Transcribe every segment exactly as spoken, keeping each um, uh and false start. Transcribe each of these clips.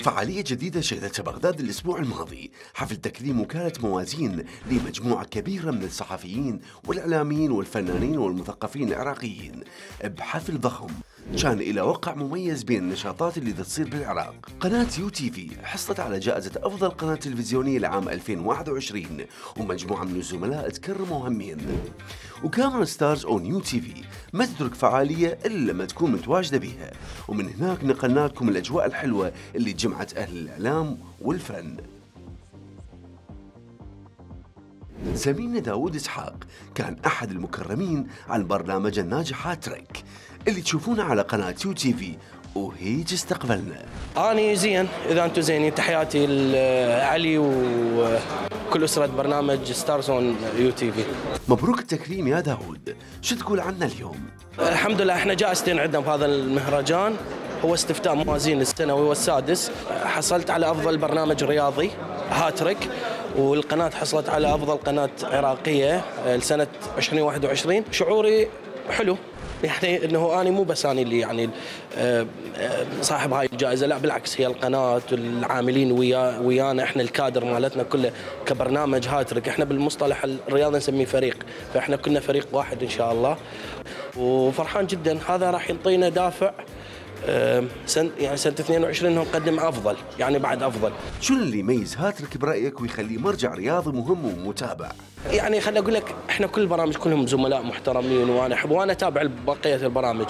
فعالية جديدة شهدتها بغداد الأسبوع الماضي، حفل تكريم وكالة موازين لمجموعة كبيرة من الصحفيين والإعلاميين والفنانين والمثقفين العراقيين بحفل ضخم كان إلى وقع مميز بين النشاطات اللي تصير بالعراق. قناة يو تي في حصلت على جائزة أفضل قناة تلفزيونية لعام ألفين وواحد وعشرين، ومجموعة من الزملاء تكرموا همين. وكاميرا ستارز أون يو تي في ما تترك فعالية إلا لما تكون متواجدة بيها، ومن هناك نقلنا لكم الأجواء الحلوة اللي جمعت أهل الإعلام والفن. زميلنا داوود إسحاق كان أحد المكرمين عن برنامج الناجح هاتريك اللي تشوفونه على قناة يو تي في، وهيج استقبلنا. أنا زين إذا أنتم زينين، تحياتي لعلي وكل أسرة برنامج ستارز أون يو تي في. مبروك التكريم يا داوود، شو تقول عنا اليوم؟ الحمد لله احنا جائزتين عندنا بهذا المهرجان، هو استفتاء موازين السنوي والسادس. حصلت على أفضل برنامج رياضي هاتريك، والقناة حصلت على أفضل قناة عراقية لسنة ألفين وواحد وعشرين. شعوري حلو، يعني انه انا مو بس انا اللي يعني صاحب هاي الجائزه، لا بالعكس، هي القناه والعاملين ويا ويانا احنا الكادر مالتنا كله كبرنامج هاتريك. احنا بالمصطلح الرياضي نسميه فريق، فاحنا كنا فريق واحد ان شاء الله، وفرحان جدا. هذا راح يعطينا دافع سنة يعني سنة اثنين وعشرين انه نقدم افضل، يعني بعد افضل. شو اللي يميز هاتريك برايك ويخليه مرجع رياضي مهم ومتابع؟ يعني خليني اقول لك، احنا كل البرامج كلهم زملاء محترمين، وانا احب وانا اتابع بقيه البرامج،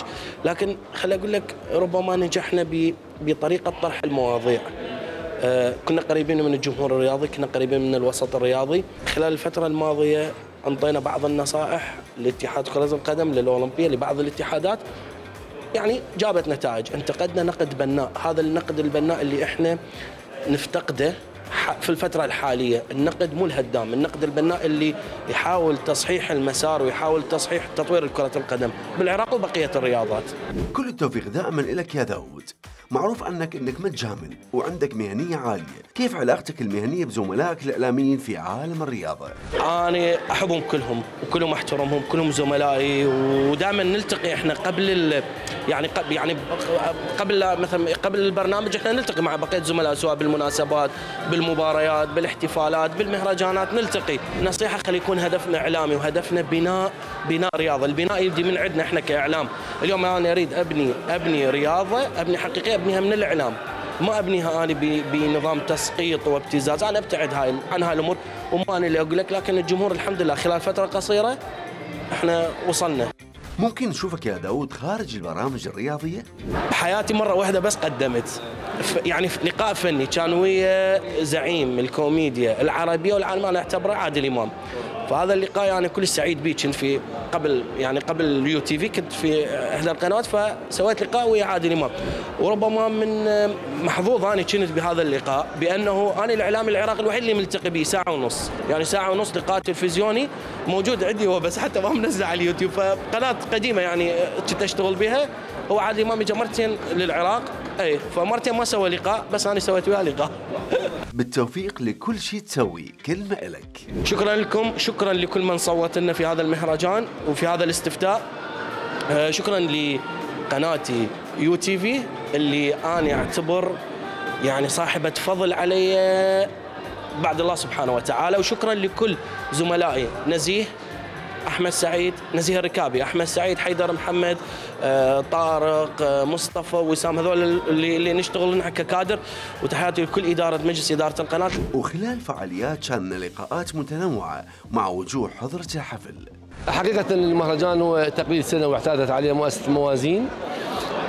لكن خليني اقول لك ربما نجحنا بطريقه طرح المواضيع. آه كنا قريبين من الجمهور الرياضي، كنا قريبين من الوسط الرياضي. خلال الفتره الماضيه انطينا بعض النصائح لاتحاد كره القدم للاولمبيه لبعض الاتحادات، يعني جابت نتائج. انتقدنا نقد بناء، هذا النقد البناء اللي احنا نفتقده في الفترة الحالية. النقد مو الهدام، النقد البناء اللي يحاول تصحيح المسار ويحاول تصحيح تطوير كرة القدم بالعراق وبقية الرياضات. كل التوفيق دائما لك يا داوود. معروف عنك انك متجامل وعندك مهنية عالية، كيف علاقتك المهنية بزملائك الإعلاميين في عالم الرياضة؟ أنا أحبهم كلهم وكلهم أحترمهم، كلهم زملائي، ودائما نلتقي احنا قبل ال... يعني قبل يعني قبل مثلا قبل البرنامج احنا نلتقي مع بقية زملاء، سواء بالمناسبات، بالمباريات، بالاحتفالات، بالمهرجانات نلتقي. نصيحة خلي يكون هدفنا إعلامي وهدفنا بناء بناء رياضة. البناء يبدي من عندنا احنا كإعلام. اليوم أنا أريد أبني أبني رياضة، أبني حقيقية، أبنيها من الإعلام، ما أبنيها أنا بنظام تسقيط وابتزاز. أنا أبتعد هاي عن هاي الأمور، وما أنا اللي أقول لك، لكن الجمهور الحمد لله خلال فترة قصيرة احنا وصلنا. ممكن نشوفك يا داوود خارج البرامج الرياضية؟ بحياتي مرة واحدة بس قدمت يعني في لقاء فني كان ويا زعيم الكوميديا العربية والعالمية، أنا أعتبره عادل إمام. فهذا اللقاء يعني كل سعيد به. كنت في قبل يعني قبل اليو تي في كنت في احدى القنوات، فسويت لقاء ويا عادل امام، وربما من محظوظ انا كنت بهذا اللقاء بانه انا الاعلامي العراقي الوحيد اللي ملتقي به ساعه ونص، يعني ساعه ونص لقاء تلفزيوني موجود عندي هو، بس حتى ما منزل على اليوتيوب. فقناه قديمه يعني كنت اشتغل بها، هو عادل امام اجى مرتين للعراق، اي فمرتين ما سوى لقاء، بس انا سويت وياه لقاء. بالتوفيق لكل شيء تسوي، كلمة إلك. شكرا لكم، شكرا لكل من صوت لنا في هذا المهرجان وفي هذا الاستفتاء. شكرا لقناتي يو تي في اللي أنا أعتبر يعني صاحبة فضل علي بعد الله سبحانه وتعالى. وشكرا لكل زملائي، نزيه أحمد سعيد، نزيه الركابي، أحمد سعيد، حيدر محمد، طارق، مصطفى، وسام، هذول اللي, اللي نشتغل نحن ككادر. وتحياتي لكل إدارة مجلس إدارة القناة. وخلال فعاليات كان لقاءات متنوعة مع وجوه حضرة الحفل. حقيقة المهرجان هو تقليد سنة واعتادت عليه مؤسسة موازين.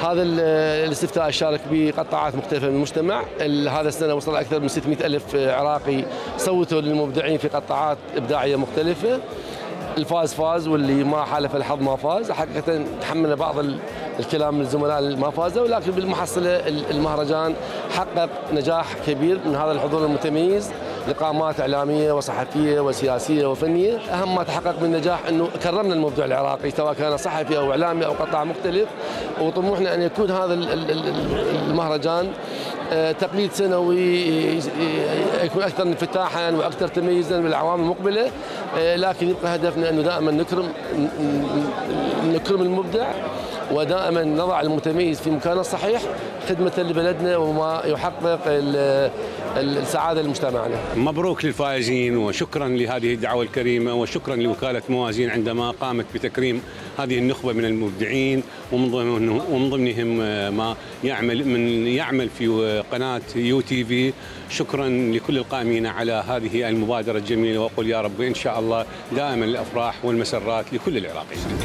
هذا الاستفتاء شارك بقطاعات مختلفة من المجتمع. هذا السنة وصل أكثر من ستمئة ألف عراقي صوتوا للمبدعين في قطاعات إبداعية مختلفة. الفاز فاز واللي ما حالف الحظ ما فاز. حقيقة تحملنا بعض الكلام من الزملاء اللي ما فازوا، ولكن بالمحصلة المهرجان حقق نجاح كبير من هذا الحضور المتميز، لقامات إعلامية وصحفية وسياسية وفنية. أهم ما تحقق من نجاح أنه كرمنا المبدع العراقي سواء كان صحفي أو إعلامي أو قطاع مختلف، وطموحنا أن يكون هذا المهرجان تقليد سنوي يكون أكثر انفتاحا وأكثر تميزا بالأعوام المقبلة، لكن يبقى هدفنا أنه دائما نكرم نكرم المبدع ودائما نضع المتميز في مكانه الصحيح خدمة لبلدنا وما يحقق السعادة لمجتمعنا. مبروك للفائزين وشكرا لهذه الدعوة الكريمة وشكرا لوكالة موازين عندما قامت بتكريم هذه النخبة من المبدعين ومن ضمنهم ومن ضمنهم ما يعمل من يعمل في قناة يو تي في. شكرا لكل القائمين على هذه المبادرة الجميلة وأقول يا رب إن شاء الله دائما الأفراح والمسرات لكل العراقيين.